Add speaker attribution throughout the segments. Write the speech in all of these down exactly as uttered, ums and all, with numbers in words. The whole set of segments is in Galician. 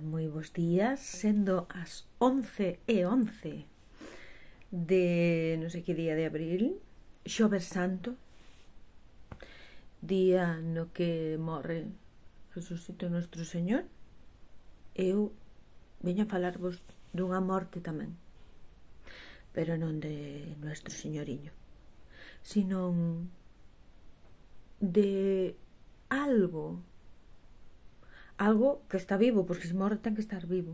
Speaker 1: moi bons días, sendo as once e once de non sei que día de abril, Xoves Santo, día no que morre Jesucito Nuestro Señor. Eu veño a falarvos dunha morte tamén, pero non de Nuestro Señoriño, sino de algo algo que está vivo, porque se morre ten que estar vivo,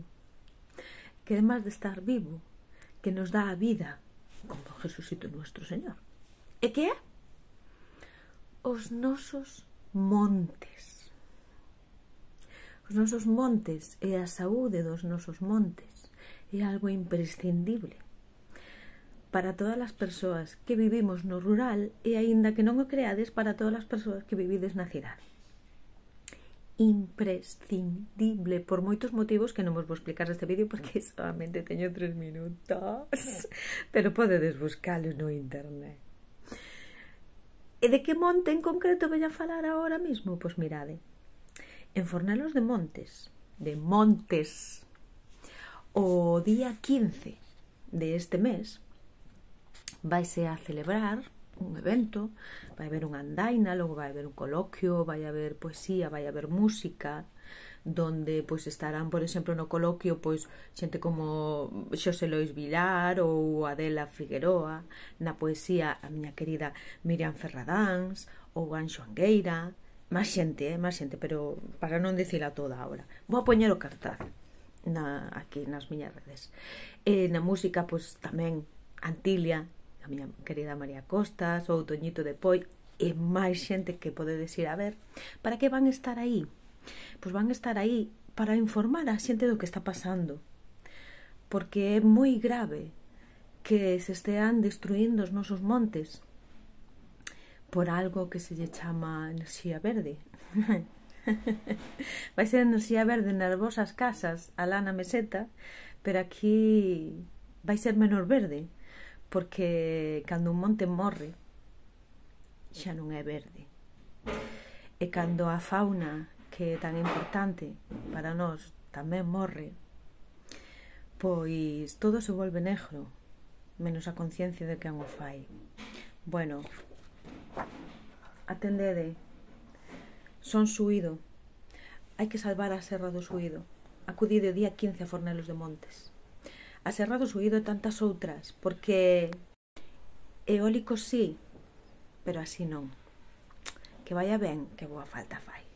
Speaker 1: que además de estar vivo, que nos dá a vida, como Jesucito Nuestro Señor. E que é? Os nosos montes. Os nosos montes e a saúde dos nosos montes é algo imprescindible para todas as persoas que vivimos no rural e, aínda que non o creades, para todas as persoas que vivides na cidade. Imprescindible, por moitos motivos que non vos vou explicar neste vídeo porque solamente teño tres minutos, pero podedes buscalo no internet. E de que monte en concreto veño a falar agora mesmo? Pois mirade, en Fornelos de Montes, de Montes, o día quince de este mes, vaise a celebrar un evento, vai haber unha andaina, logo vai haber un coloquio, vai haber poesía, vai haber música, donde pois estarán, por exemplo, no coloquio pois xente como Xosé Lois Vilar ou Adela Figueroa, na poesía a miña querida Miriam Ferradáns ou Anxo Angueira, máis xente, eh, máis xente, pero para non dicila toda agora. Vou a poñer o cartaz na, aquí nas miñas redes. E na música pois tamén Antilia, a miña querida María Costas, ou Toñito de Poi, e máis xente que podedes ir a ver. Para que van estar aí? Pois van estar aí para informar a xente do que está pasando, porque é moi grave que se estean destruindo os nosos montes por algo que se lle chama enerxía verde. Vai ser enerxía verde nas vosas casas, alá na meseta, pero aquí vai ser menor verde, porque cando un monte morre xa non é verde, e cando a fauna que é tan importante para nós tamén morre, pois todo se volve negro, menos a conciencia de quen o fai. Bueno, atendede, son Suído, hai que salvar a Serra do Suído. Acudide o día quince a Fornelos de Montes. A Serra do Suído e tantas outras, porque eólicos sí, pero así non. Que vaya ben, que boa falta fai.